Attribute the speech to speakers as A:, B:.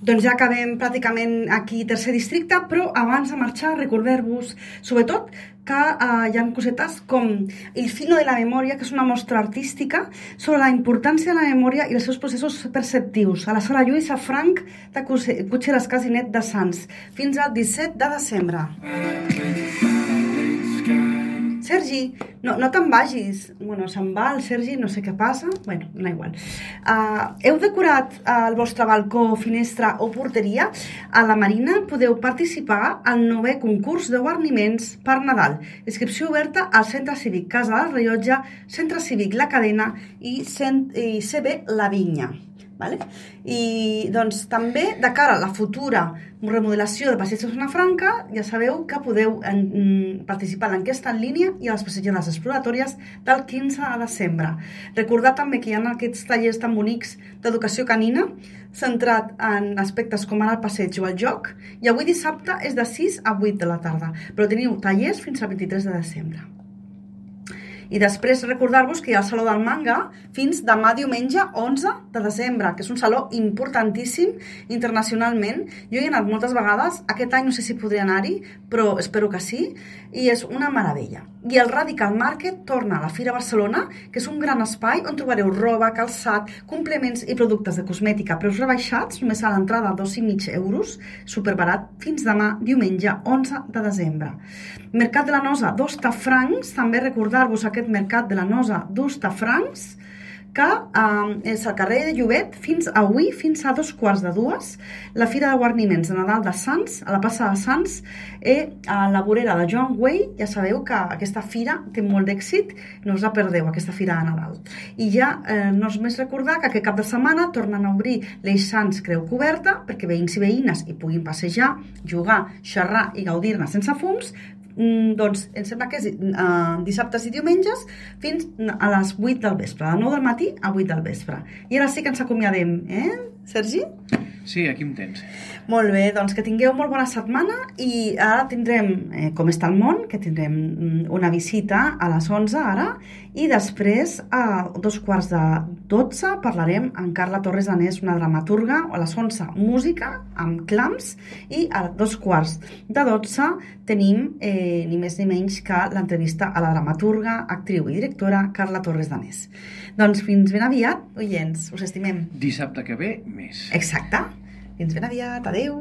A: Doncs ja acabem pràcticament aquí tercer districte, però abans de marxar recordar-vos, sobretot, que hi ha cosetes com El filo de la memòria, que és una mostra artística sobre la importància de la memòria i els seus processos perceptius, a la sala Lluïsa Franch de Cotxeres Casinet de Sants, fins al 17 de desembre. Sergi, no te'n vagis. Bueno, se'n va el Sergi, no sé què passa. Bueno, no igual. Heu decorat el vostre balcó, finestra o porteria? A la Marina podeu participar al 9è concurs de guarniments per Nadal. Inscripció oberta al Centre Cívic Casa del Rellotge, Centre Cívic La Cadena i CB La Vinya. Vale? I doncs també de cara a la futura remodelació de Passeig de Zona Franca, ja sabeu que podeu participar en l'enquesta en línia i a les passejades exploratòries del 15 de desembre. Recordar també que hi ha aquests tallers tan bonics d'educació canina centrat en aspectes com ara el passeig o el joc, i avui dissabte és de 6 a 8 de la tarda, però teniu tallers fins al 23 de desembre. I després recordar-vos que hi ha el Saló del Manga fins demà diumenge 11 de desembre, que és un saló importantíssim internacionalment. Jo hi he anat moltes vegades, aquest any no sé si podré anar-hi, però espero que sí, i és una meravella. I el Radical Market torna a la Fira Barcelona, que és un gran espai on trobareu roba, calçat, complements i productes de cosmètica, preus rebaixats, només a l'entrada 2,5 euros, superbarat, fins demà diumenge 11 de desembre. Mercat de la Nosa d'Hostafrancs, també recordar-vos aquest Mercat de la Nosa d'Hostafrancs, que és al carrer de Llobet fins avui, fins a 2:15. La Fira de Guarniments de Nadal de Sants, a la plaça de Sants, a la vorera de Joan Güell. Ja sabeu que aquesta fira té molt d'èxit, no us la perdeu, aquesta fira de Nadal. I ja no és més recordar que aquest cap de setmana tornen a obrir l'Eix Sants Creu Coberta, perquè veïns i veïnes hi puguin passejar, jugar, xerrar i gaudir-ne sense fums. Doncs em sembla que és dissabtes i diumenges fins a les 8 del vespre, de 9 del matí a 8 del vespre. I ara sí que ens acomiadem, Sergi?
B: Sí, aquí em tens.
A: Molt bé, doncs que tingueu molt bona setmana i ara tindrem Com està el món, que tindrem una visita a les 11 ara, i després a 2:15 parlarem amb Carla Torres Danés, una dramaturga, a les 11 música amb clams, i a 2:15 tenim ni més ni menys que l'entrevista a la dramaturga, actriu i directora Carla Torres Danés. Doncs fins ben aviat, oients, us estimem.
B: Dissabte que ve, més.
A: Exacte. Fins ben aviat, adeu.